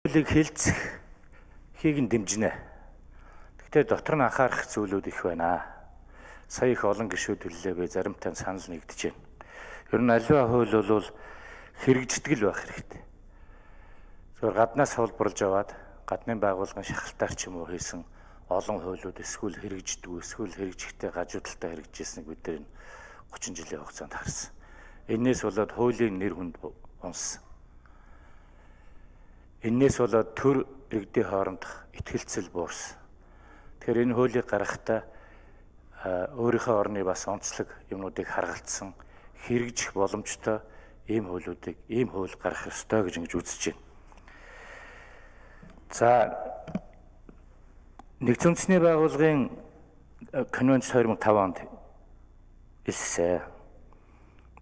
хуулийг хэлцэхийг нь дэмжинэ. Гэхдээ дотор нь анхаарах зүйлүүд их байна. Сая их олон гишүүд хэллээ бэ, заримтай санал нэгдэж байна. Ер нь аливаа хууль бол хэрэгждэг л байх хэрэгтэй. Зөвхөн гаднаас хуулбарлаж аваад гадны байгууллагын шахалтаар ч юм уу хийсэн олон хуулиуд эсвэл хэрэгждэг, эсвэл хэрэгжихдээ гажуудалтай хэрэгжижсэнийг бид нар 30 жилийн хугацаанд харсан. Энээс болоод хуулийн нэр хүнд унсан. Энээс болоод төр иргэдийн хоорондох итгэлцэл буурсан. Тэгэхээр энэ хуулийг гаргахдаа өөрийнхөө орны бас онцлог юмнуудыг харгалцсан хэрэгжих боломжтой ийм хууль гаргах ёстой гэж ингэж үзэж байна. За Нэгдсэн үндэсний байгууллагын конвенц 2005 онд илсэн.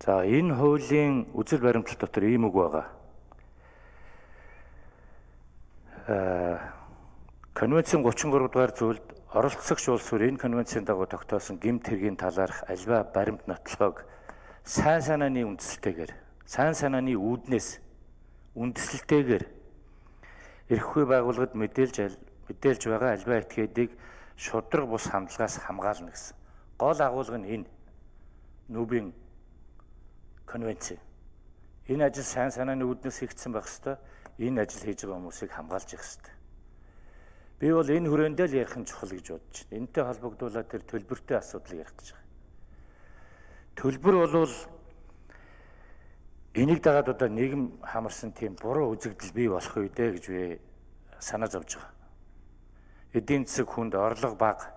За энэ хуулийн үзэл баримтлал дотор ийм үг байгаа. Конвенцийн 33 дугаар зүйлд оролцогч улс бүр энэ конвенцийн дагуу тогтоосон гэмт хэргийн талаарх аливаа баримт нотолгоог сайн санааны үндэслэлтэйгээр, сайн санааны үүднээс үндэслэлтэйгээр эрхгүй байгууллагад мэдээлж байгаа аливаа этгээдийг шудраг бус хандлагаас хамгаална гэсэн. Гол агуулга нь энэ Нүбийн конвенц. Энэ ажил сайн санааны үүднээс хийгдсэн байх ёстой. Энэ ажил хийж байгаа хүмүүсийг хамгаалж явах ёстой. Би бол энэ хүрээндээ л ярих нь чухал гэж бодож байна. Энэтэй холбогдуулаад тэр төлбөртэй асуудлыг ярих гэж байгаа. Төлбөр бол энийг дагаад одоо нийгэм хамарсан тийм буруу үзэгдэл бий болох үедээ гэж би санаа зовж байгаа. Эдийн засаг хүнд орлого бага,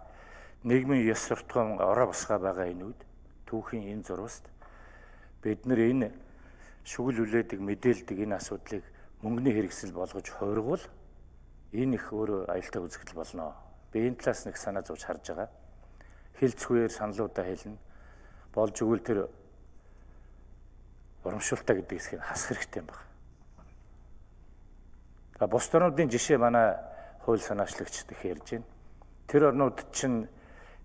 нийгмийн ёс суртахуун ороо босгоо байгаа энэ үед түүхийн энэ зурваст бид нар энэ шүгэл үлээдэг, мэдээлдэг энэ асуудлыг мөнгөний хэрэгсэл болгож хуургавал энэ их өөр аюултай үзэгдэл болно. Би энэ талаас нэг санаа зовж харж байгаа. Хэлцгүйгээр саналуудаа хэлнэ. Болж өгвөл тэр урамшуултаа гэдэг хэсгийг хасах хэрэгтэй юм байна. За бус орнуудын жишээ манай хууль санаачлагчид их ярьж байна. Тэр орнууд чинь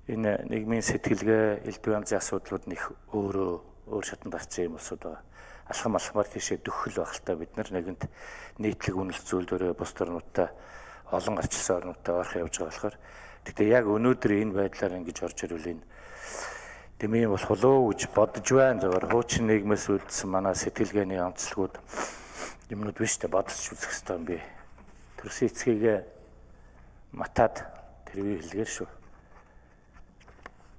энэ нийгмийн сэтгэлгээ, элдв янзын асуудлууд нь их өөр шатанд гарсан юм улсууд байгаа. Алхам алхмаар тийшээ дөхөл байх л та бид нар нэгэнт нийтлэг үнэлт зүйлдөрөө бус орнуудтай олон гарчилсан орнуудтай орох явж байгаа болохоор гэхдээ яг өнөөдөр энэ байдлаар ингэж орж ирвэл энэ дэмий болох болоо гэж бодож байна. Зөвхөн хуучин нийгмээс үлдсэн манай сэтгэлгээний онцлогуд юмнууд биш тэ бодож үзэх хэрэгтэй юм би. Төрсөн эцгийг матад тэрвээ хэлгээр шүү.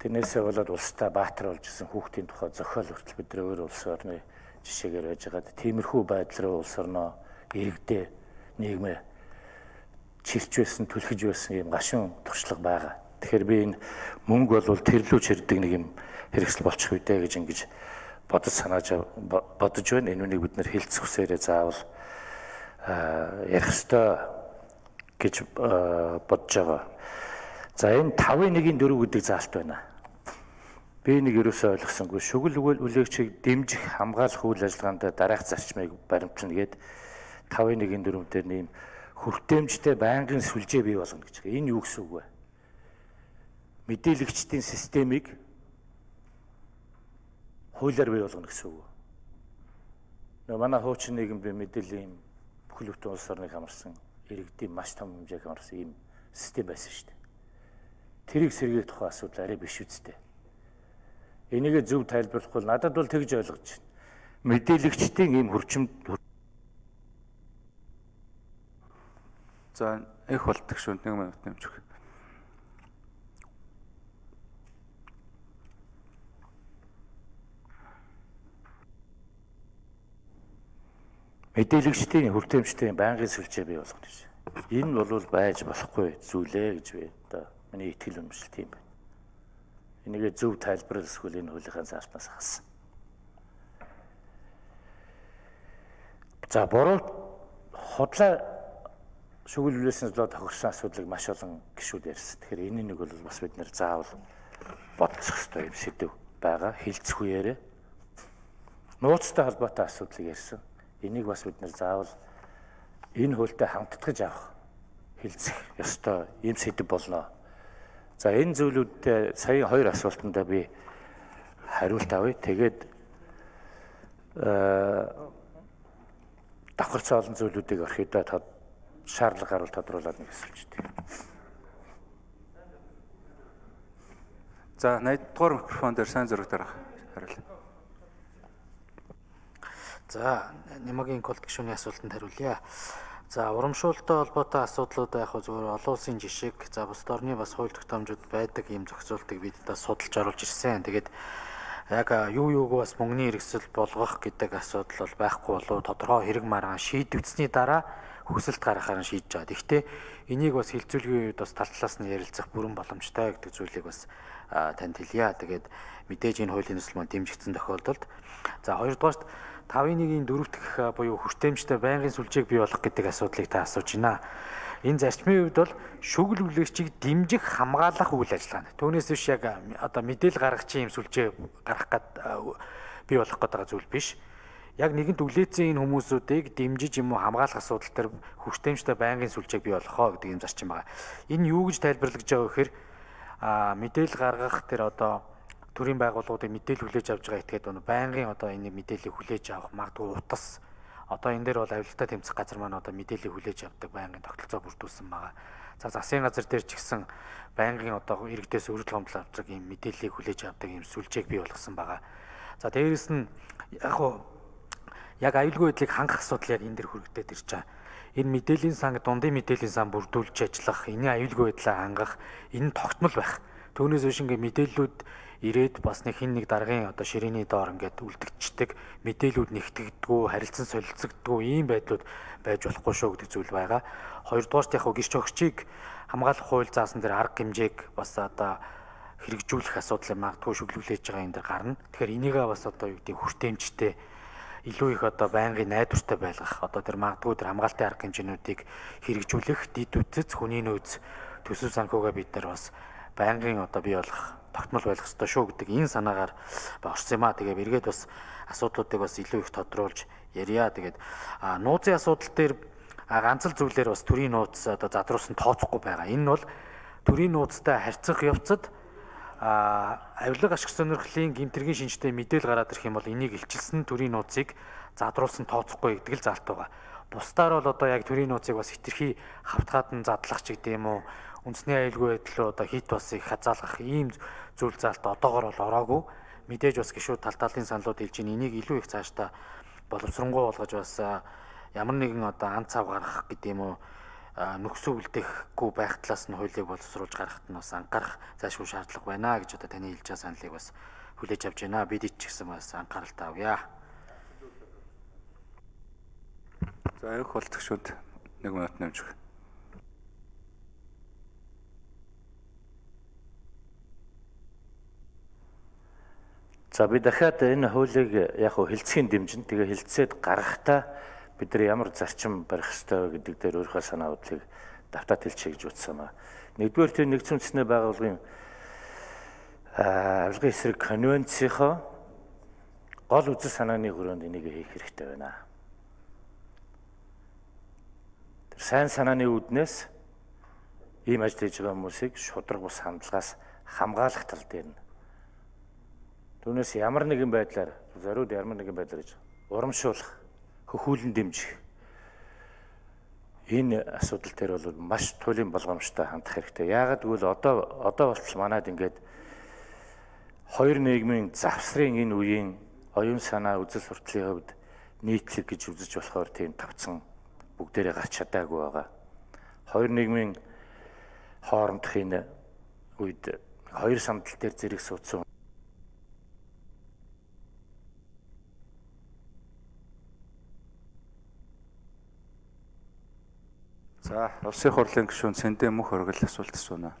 Тэрнээсээ болоод улстай баатар болж исэн хүүхдийн тухай зохиол хүртэл бидний өөр улс орны жишээгээр байж байгаа. Тиймэрхүү байдал руу улс орноо иргэдээ нийгмээ чирч байсан, түлхэж байсан юм гашуун туршлага байгаа. Тэгэхээр би энэ мөнгө бол тэрлүү чирдэг нэг юм хэрэгсэл болчих үедээ гэж ингэж бодож байна. Энэ үнийг бид нэр хэлцэх хүсээрээ заавал ярих ёстой гэж бодож байгаа. За энэ 5-1-4 гэдэг заалт байна. Би нэг ерөөсөө ойлгосонгүй. Шүгэл үлээгчийг дэмжих, хамгаалах үйл ажиллагаанд дараах зарчмыг баримтлана гээд 5-1-4 дээр нэм хүртээмжтэй байнгын сүлжээ бий болгоно гэж байгаа. Энэ юу гэсэн үг вэ? Мэдээлэгчдийн системийг хуулиар бий болгоно гэсэн үг. Нөгөө манай хуучин нийгэм би мэдээллийн бүхэл бүтэн улс орныг хамарсан иргэдийн маш том хэмжээг хамарсан ийм систем байсан шүү дээ. Тэрийг сэргээх тухай асуудал арай биш үстэй. Энийг зөв тайлбарлахгүй надад бол тэгж ойлгож байна. Мэдээлэгчдийн ийм хурцмд за их болдог шүү 1 минут нэмж өгөх. Мэдээлэгчдийн хүртээмжтэй байнгын сүлжээ бий болгох гэж. Энэ бол байж болохгүй зүйлээ гэж би одоо миний итгэл үнэмшил тийм байна. Энийг зөв тайлбарлал эсвэл энэ хуулийнхаа заалтнаас хассан. За буруу худлаа шүглүүлснээс болоод тохирсон асуудлыг маш олон гишүүд ярьсан. Тэгэхээр энэ нэг бол бас бид нэр заавал бодох ёстой юм сэдв байгаа. Хэлцэх үеэрээ нууцтай холбоотой асуудлыг ярьсан. Энийг бас бид нэр заавал энэ хуультай хамтдагж авах хэлцэх ёстой юм сэдв болно. За энэ зүйлүүдтэй сая 2 асуултанд би хариулт авъя. Тэгээд давхарцсан олон зүйлүүдийг орхидоо шаардлага гарвал тодруулаад нэг асуулж дээ. За 80-р микрофон дээр сайн зураг дарах хариул. За Нямагийн колд гишүүний асуултанд хариулъя. За урамшуулалттай холбоотой асуудлууд яг зөвхөн олон улсын жишг, за бусад орны бас хууль тогтоомжууд байдаг ийм зохицуултыг бид та судалж оруулж ирсэн. Тэгээд яг юуг бас мөнгөний хэрэгсэл болгох гэдэг асуудал бол байхгүй болов тодорхой хэрэг маргаан шийдвэцсний дараа хүсэлт гаргахаар нь шийдэж байгаа. Гэхдээ энийг бас хилцүүлгийн үед бас тал талаас нь ярилцах бүрэн боломжтой гэдэг зүйлийг бас танд хэлье. Тэгээд мэдээж энэ хуулийн төсөл маань дэмжигдсэн тохиолдолд за хоёрдугаарт 5-1-ийн 4 дахь буюу хүртээмжтэй байнгын сүлжээг бий болгох гэдэг асуудлыг та асууж байна. Энэ зарчмын хувьд бол шүгэл хүлээгчийг дэмжих хамгаалах үйл ажиллагаа. Түүнээс биш яг одоо мэдээлэл гаргахчийн юм сүлжээ гаргах гээд бий болох гэдэг зүйл биш. Яг нэгэнт үлээцэн энэ хүмүүсүүдийг дэмжиж юм уу хамгаалах асуудал төр хүртээмжтэй байнгын сүлжээг бий болгохоо гэдэг юм зарчим байна. Энэ юу гэж тайлбарлаж байгаа вэ гэхээр мэдээлэл гаргах тэр одоо төрийн байгууллагуудыг мэдээлэл хүлээж авч байгаа этгээд байнгын одоо энэ мэдээллийг хүлээж авах магадгүй утас одоо энэ дээр бол авилтаа тэмцэх газар маань одоо мэдээллийг хүлээж авдаг байнгын тогтолцоо бүрдүүлсэн байгаа. За засгийн газар дээр ч гэсэн байнгын одоо иргэдээс өргөдөл гомдол авдаг юм мэдээллийг хүлээж авдаг юм сүлжээг бий болгосон байгаа. За дээрэс нь яг аюулгүй байдлыг хангах асуудал яг энэ дэр хүрэгдээд ирж байгаа. Энэ мэдээллийн сан дундын мэдээллийн сан бүрдүүлж ажиллах, энэ аюулгүй байдлаа хангах энэ тогтмол байх. Түүнээс биш ингээ мэдээллүүд ирээд бас нэг хин нэг даргын одоо ширээний доор ингээд үлдэгчдэг мэдээлүүд нэгтгэдэггүй харилцан солилцогддгүй ийм байдлууд байж болохгүй шүү гэдэг зүйл байгаа. Хоёрдугаарт яг гэрч өгчийг хамгаалах хууль заасан дээр арга хэмжээг бас одоо хэрэгжүүлэх асуудлыг магадгүй шүглүүлж байгаа юм дээр гарна. Тэгэхээр энийгээ бас одоо юу гэдэг хүртээмжтэй илүү их одоо байнгын найдвартай байлгах одоо тэр магадгүй тэр хамгаалтын арга хэмжээнүүдийг хэрэгжүүлэх дид үтц хүний нөөц төсөв санхугаа бид нар бас байнгын одоо бий болох тогтмол байх ёстой шүү гэдэг энэ санаагаар орсон юм аа. Тэгээ эргээд бас асуудлуудыг бас илүү их тодруулж ярья. Тэгээд нууцын асуудал дээр ганц л зүйлээр бас төрийн нууц одоо задруулсан тооцохгүй байгаа. Энэ нь бол төрийн нууцтай харьцах явцад авилга ашиг сонирхлын гэмтэргийн шинжтэй мэдээлэл гараад ирэх юм бол энийг илчилсэн төрийн нууцыг задруулсан тооцохгүй гэдэг л залт байгаа. Бусдаар бол одоо яг төрийн нууцыг бас хэтэрхий хавтгаад нь задлах ч гэдэг юм уу үндэсний аюулгүй байдал одоо хит бас их хязгаарлах ийм зүйл заалт одоогоор бол ороогүй. Мэдээж бас гişүүд талын саналууд хэлж ийн энийг илүү их цаашдаа боловсронгуй болгож бас ямар нэгэн одоо ан цав гаргах гэдэг юм уу нөхцөл үлдээхгүй байх талаас нь хуулийг боловсруулж гаргахад нь бас анхаарах зайлшгүй шаардлага байна гэж одоо таны хэлж байгаа саналыг бас хүлээж авч байна. Бид ч гэсэн бас анхааралтай авъя. За их болтгшүүд 1 минут нэмж өгье. За би дахиад энэ хуулийг яг хилцхийн дэмжин тэгээ хилцээд гаргахтаа бид нар ямар зарчим барих ёстой гэдэг дээр өөрийнхөө санаа бодлыг давтаад хэлчихье гэж утсан ба. Нэгдүгээр тэр нэгдсэн үндэсний байгууллагын авилгын эсрэг конвенцийнхоо гол үзэл санааны хүрээнд энийг хийх хэрэгтэй байна. Тэр сайн санааны үүднээс ийм ажил хийж байгаа хүмүүсийг шудраг бус хандлагаас хамгаалах тал дээр нь түүнээс ямар нэгэн байдлаар зориуд ямар нэгэн байдлаар гэж урамшуулах, хөхүүлэн дэмжих энэ асуудал дээр бол маш туйлын болгоомжтой хандах хэрэгтэй. Яагаад гэвэл одоо болтол манайд ингээд хоёр нийгмийн завсрын энэ үеийн оюун санаа үзэл сурталын хувьд нийтлэг гэж үзэж болохоор тийм тавцсан бүгдээрээ гарч чадаагүй байгаа. Хоёр нийгмийн хоорондох энэ үед хоёр сандал дээр зэрэг суудсан За, улсын хурлын гишүүн Сэндэ мөх оргил асуулт асууна.